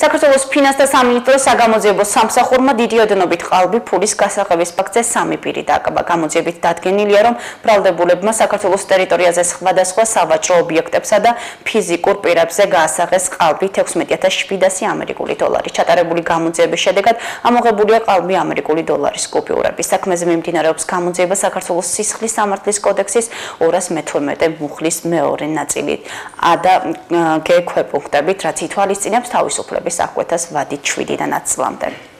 საქართველოს ფინანსთა სამინისტროს საგამოძიებო სამსახურმა დიდი ოდენობით ყალბი ფულის გასაღების ფაქტზე 3 პირი დააკაბა. გამოძიებით დადგენილია, რომ ბრალდებულებმა საქართველოს ტერიტორიაზე სხვადასხვა სავაჭრო ობიექტებსა და ფიზიკურ პირებზე გაასაღეს ყალბი 16700 ამერიკული დოლარი. ჩატარებული გამოძიების შედეგად ამოღებულია ყალბი ამერიკული დოლარის კუპიურები. საქმეზე მიმდინარეობს გამოძიება საქართველოს სისხლის სამართლის კოდექსის 212 მუხლის მეორე ნაწილი A და G ქვეპუნქტებით, რაც ითვალისწინებს თავისუფლების აღკვეთას ვადით 7-დან 10 წლამდე.